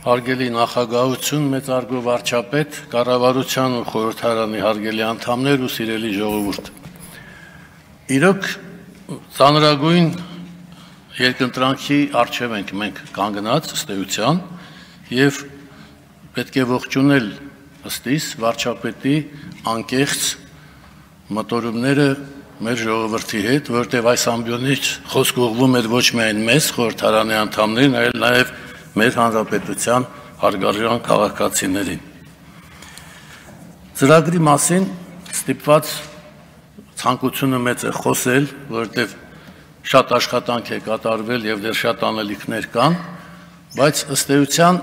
Հարգելի նախագահություն, մեծարգո վարչապետ, կառավարության ու խորհրդարանի հարգելի անդամներ ու սիրելի ժողովուրդ։ Իրոք ծանրագույն երկընտրանքի առջև ենք մենք կանգնած ըստ էության եւ պետք է ողջունել ըստիս վարչապետի անկեղծ մտորումները մեր ժողովրդի հետ, որտեղ այս ամբիոնից խոսք ուղղվում էր ոչ միայն մեզ, խորհրդարանի անդամներին, այլ նաեւ մեր հանրապետության հարգարժան քաղաքացիներին։ Ծրագրի մասին ստիպված ցանկությունը մեծ է խոսել, որովհետև շատ աշխատանք է կատարվել եւ դեռ շատ անելիքներ կան, բայց ըստ էության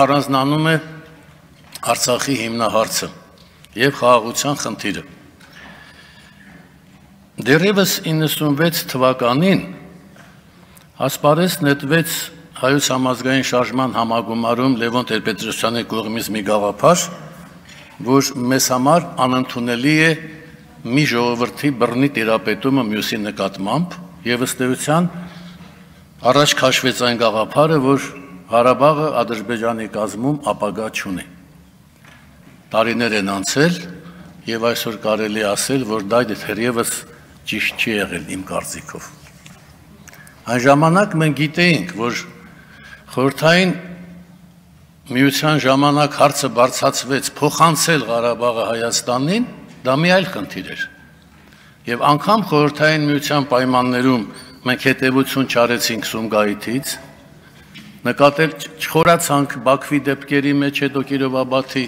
առանձնանում է Արցախի հիմնահարցը եւ խաղաղության խնդիրը։ Դեռևս 96 թվականին ասպարեզ նետվեց Հայոց համազգային շարժման համագումարում Լևոն Տեր-Պետրոսյանի կողմից մի գաղափար, որ մեզ համար անընդունելի է մի ժողովրդի բռնի տիրապետումը մյուսի նկատմամբ եւ ըստ էության առաջ քաշվեց այն գաղափարը, որ Ղարաբաղը Ադրբեջանի կազմում ապագա չունի։ Տարիներ են անցել եւ այսօր կարելի ասել, որ դա դեռևս ճիշտ չի եղել իմ կարծիքով։ Այն ժամանակ մենք գիտեինք, որ խորհրդային միության ժամանակ հարցը բարձրացվեց փոխանցել Ղարաբաղը Հայաստանին, դա մի այլ խնդիր էր։ Եվ անգամ խորհրդային միության պայմաններում մենք հետևություն չարեցինք Սումգայիթից, նկատել չխորացանք Բաքվի դեպքերի մեջ հետո Կիրովաբադի,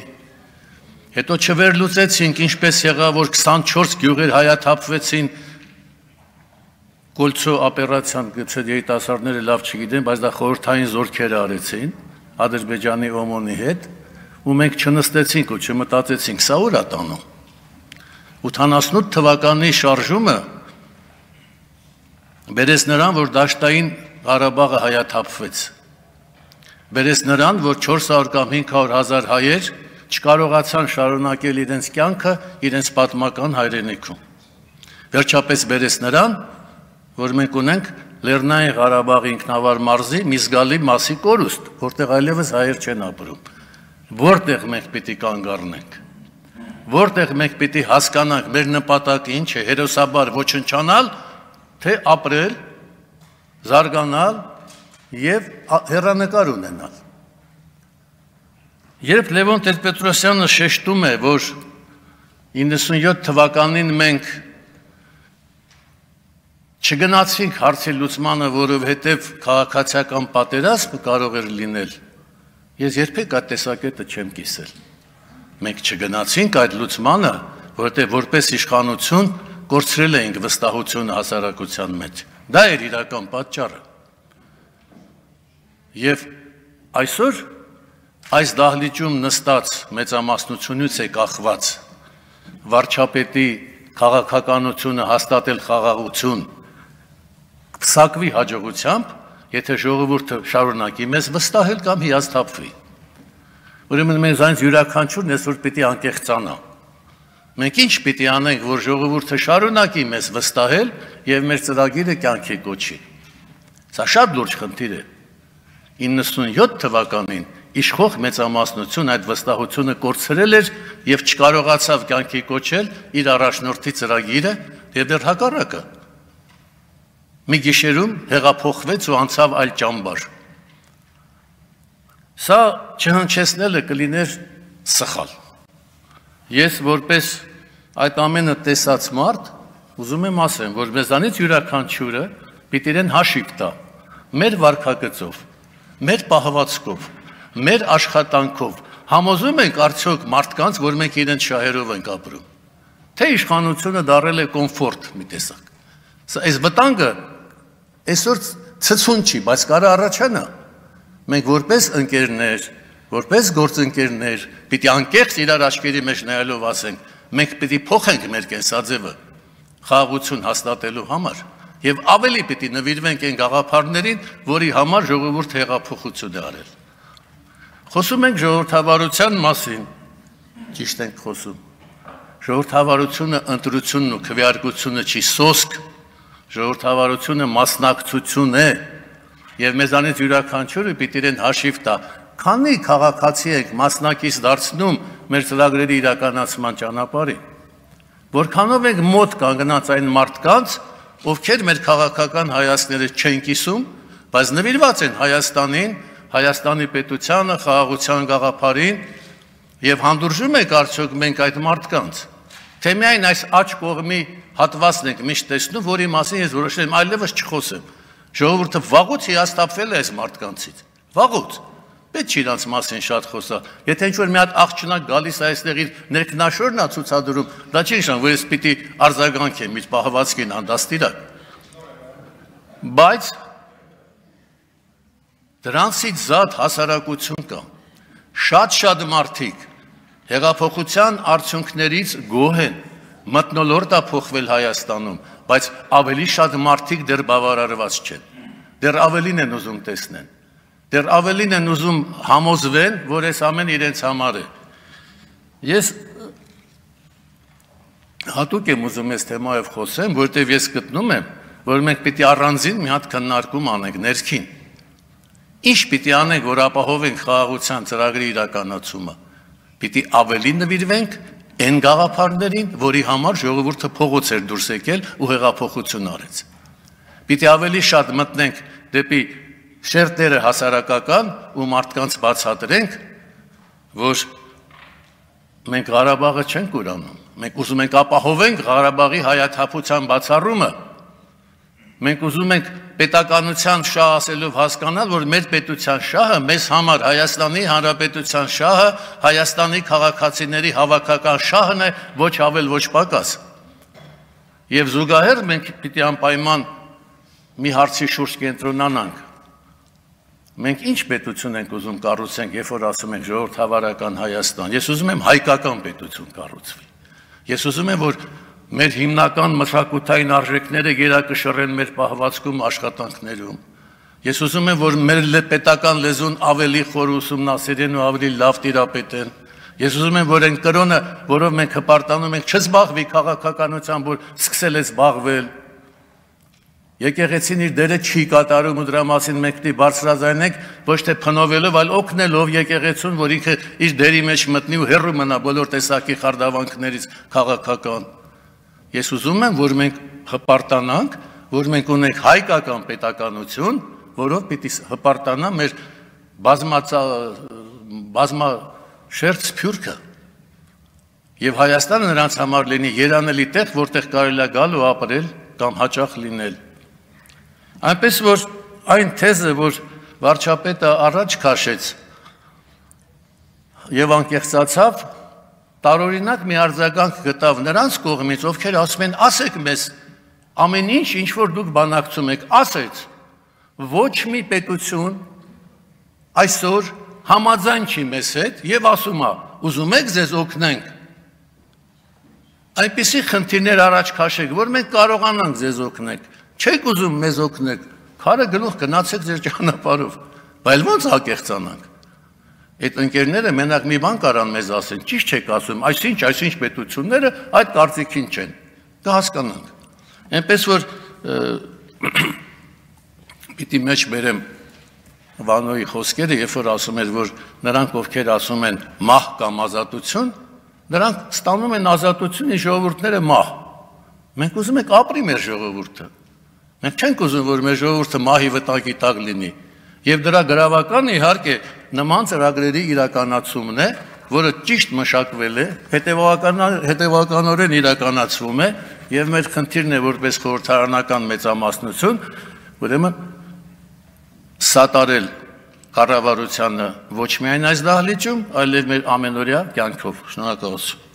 հետո չվերլուծեցինք ինչպես եղավ, որ 24 գյուղեր հայաթափվեցին Գոլցո օպերացիան, գուցե երիտասարդները լավ չգիտեն, բայց դա խորհրդային զորքերը արեցին Ադրբեջանի օմոնի հետ, ու մենք չնստեցինք ու չմտածեցինք, սա ուր է տանում։ 88 թվականի շարժումը բերեց նրան, որ դաշտային Ղարաբաղը հայաթափվեց։ Բերեց նրան, որ 400 կամ 500 հազար հայեր չկարողացան շարունակել իրենց կյանքը իրենց պատմական հայրենիքում։ Վերջապես բերեց նրան, որ մենք ունենք Լեռնային Ղարաբաղի ինքնավար մարզի մի զգալի մասի կորուստ, որտեղ այլևս հայեր չեն ապրում։ Որտեղ մենք պիտի կանգ առնենք։ Որտեղ մենք պիտի հասկանանք մեր նպատակը ինչ է, հերոսաբար ոչնչանալ, թե ապրել, զարգանալ եւ հեռանկար ունենալ։ Երբ Լևոն Տեր-Պետրոսյանը շեշտում է, որ 97 թվականին մենք չգնացինք հարցի լուծմանը, որովհետև քաղաքացիական պատերազմ կարող էր լինել, ես երբեք այդ տեսակետը չեմ կիսել։ Մենք չգնացինք այդ լուծմանը, որովհետև որպես իշխանություն կորցրել էինք վստահությունը հասարակության մեջ։ Դա էր իրական պատճառը։ Եվ այսօր այս դահլիճում նստած մեծամասնությունից է կախված վարչապետի քաղաքականությունը հաստատել խաղաղություն փսակվի հաջողությամբ, եթե ժողովուրդը շարունակի մեզ վստահել կամ հիասթափվի։ Ուրեմն մենք այնց յուրաքանչյուրն այսօր պիտի անկեղծանա։ Մենք ինչ պիտի անենք, որ ժողովուրդը շարունակի մեզ վստահել եւ մեր ծրագիրը կյանքի կոչի։ Սա շատ լուրջ խնդիր է։ 97 թվականին իշխող մեծամասնություն այդ վստահությունը կորցրել էր եւ չկարողացավ կյանքի կոչել իր առաջնորդի ծրագիրը եւ դեռ հակառակը։ Մի գիշերում հեղափոխվեց ու անցավ այլ ճամբար։ Սա չհնչեցնելը կլիներ սխալ։ Ես որպես այդ ամենը տեսած մարդ ուզում եմ ասեմ, որ մեզանից յուրաքանչյուրը պիտի իրեն հաշիվ տա մեր վարքագծով, մեր պահվածքով, մեր աշխատանքով համոզում ենք արդյոք մարդկանց, որ մենք իրենց շահերով ենք ապրում, թե իշխանությունը դարել է կոմֆորտ մի տեսակ։ Այս վտանգը այսօր ցցուն չի, բայց կարա առաջանա։ Մենք որպես ընկերներ, որպես գործընկերներ, պիտի անկեղծ իրար աչքերի մեջ նայելով ասենք, մենք պիտի փոխենք մեր կենսաձևը խաղաղություն հաստատելու համար եւ ավելի պիտի նվիրվենք այն գաղափարներին, որի համար ժողովուրդ հեղափոխություն է արել։ Խոսում ենք ժողովրդավարության մասին, ճիշտ ենք խոսում։ Ժողովրդավարությունը ընտրությունն ու քվեարկությունը չի սոսկ, ժողովրդավարությունը մասնակցություն է, եւ մեզանից յուրաքանչյուրը պիտի իրեն հաշիվ տա քանի քաղաքացի եք մասնակից դարձնում մեր ծրագրերի իրականացման ճանապարհին, որքանով եք մոտ կանգնած այն մարդկանց, ովքեր մեր քաղաքական հայացքները չեն կիսում, բայց նվիրված են Հայաստանին, Հայաստանի պետությանը, խաղաղության գաղափարին եւ հանդուրժում եք արդյոք մենք այդ մարդկանց, թե միայն այս աջ կողմի հատվածն եք միշտ տեսնում, որի մասին ես որոշել եմ այլևս չխոսեմ։ Ժողովուրդը վաղուց հիասթափվել է այս մարդկանցից, վաղուց, պետք չի իրանց մասին շատ խոսա, եթե ինչ-որ մի հատ աղջնակ գալիս է այստեղ իր ներքնաշորն է ցուցադրում, դա չի նշան, որ ես պիտի արձագանքեմ իր պահվածքին անդաստիրակ, բայց դրանցից զատ հասարակություն կա, շատ մարդիկ հեղափոխության արդյունքներից գոհ են, մթնոլորտ է փոխվել Հայաստանում, բայց ավելի շատ մարդիկ դեռ բավարարված չեն, դեռ ավելին են ուզում տեսնեն, դեռ ավելին են ուզում համոզվեն, որ այս ամեն իրենց համար է։ Ես հատուկ եմ ուզում այս թեմայով խոսեմ, որտեղ ես գտնում եմ, որ մենք պիտի առանձին մի հատ քննարկում անենք ներքին։ Ինչ պիտի անենք, որ ապահովենք խաղաղության ծրագրի իրականացումը։ Պիտի ավելի նվիրվենք այն գաղափարներին, որի համար ժողովուրդը փողոց էր դուրս եկել ու հեղափոխություն արեց։ Պիտի ավելի շատ մտնենք դեպի շերտերը հասարակական ու մարդկանց բացատրենք, որ մենք Ղարաբաղը չենք ուրանում, մենք ուզում ենք ապահովենք Ղարաբաղի հայաթափության բացառումը, մենք ուզում ենք պետականության շահ ասելով հասկանալ, որ մեր պետության շահը մեզ համար Հայաստանի Հանրապետության շահը, Հայաստանի քաղաքացիների հավաքական շահն է, ոչ ավել, ոչ պակաս։ Եվ զուգահեռ մենք պիտի անպայման մի հարցի շուրջ կենտրոնանանք։ Մենք ինչ պետություն ենք ուզում կառուցենք, երբ որ ասում ենք ժողովրդավարական Հայաստան։ Ես ուզում եմ հայկական պետություն կառուցվի։ Ես ուզում եմ, որ մեր հիմնական մշակութային արժեքները գերակշռեն մեր պահվածքում աշխատանքներում։ Ես ուզում եմ, որ մեր պետական լեզուն ավելի խոր ուսումնասիրեն ու ավելի լավ տիրապետեն։ Ես ուզում եմ, որ այն կրոնը, որով մենք հպարտանում ենք, չզբաղվի քաղաքականությամբ, որ սկսել է զբաղվել։ Եկեղեցին իր դերը չի կատարում ու դրա մասին մենք պիտի բարձրաձայնենք, ոչ թե փնովելով, այլ օգնելով եկեղեցուն, որ ինքը իր դերի մեջ մտնի ու հեռու մնա բոլոր տեսակի խարդավանքներից քաղաքական։ Ես ուզում եմ, որ մենք հպարտանանք, որ մենք ունենք հայկական պետականություն, որով պիտի հպարտանա մեր բազմաշերտ սփյուռքը։ Եվ Հայաստանը նրանց համար լինի երանելի տեղ, որտեղ կարելի է գալ ու ապրել կամ հաճախ լինել։ Այնպես որ այն թեզը, որ վարչապետը առաջ քաշեց եւ անկեղծացավ, տարօրինակ մի արձագանք գտավ նրանց կողմից, ովքեր ասում են, ասեք մեզ, ամեն ինչ, ինչ որ դուք բանակցում եք, ասեց, ոչ մի պետություն այսօր համաձայն չի մեզ հետ եւ ասում է, ուզում եք ձեզ օգնենք։ Այնպիսի խնդիրներ առաջ քաշեք, որ մենք կարողանանք ձեզ օգնել։ Չեք ուզում մեզ օգնեք, քարը գլուխ գնացեք ձեր ճանապարհով, բայց ո՞նց ակեղծանանք։ Այդ ընկերները մենակ մի բան կարան մեզ ասեն, ճիշտ չեք ասում, այսինչ պետությունները այդ կարծիքին չեն, կհասկանանք։ Այնպես որ պիտի մեջ բերեմ Վանոյի խոսքերը, երբ որ ասում էր, որ նրանք ովքեր ասում են մահ կամ ազատություն, նրանք ստանում են ազատություն, իսկ ժողովուրդները մահ։ Մենք ուզում ենք ապրի մեր ժողովուրդը։ Մենք չենք ուզում, որ մեր ժողովուրդը մահի վտակի տակ լինի։ Եվ դրա գրավականը իհարկե նման ծրագրերի իրականացումն է, որը ճիշտ մշակվել է, հետևականորեն իրականացվում է, եւ մեր խնդիրն է որպես խորհրդարանական մեծամասնություն, ուրեմն սատարել կառավարությանը ոչ միայն այս դահլիճում, այլև մեր ամենօրյա կյանքով։ Շնորհակալություն։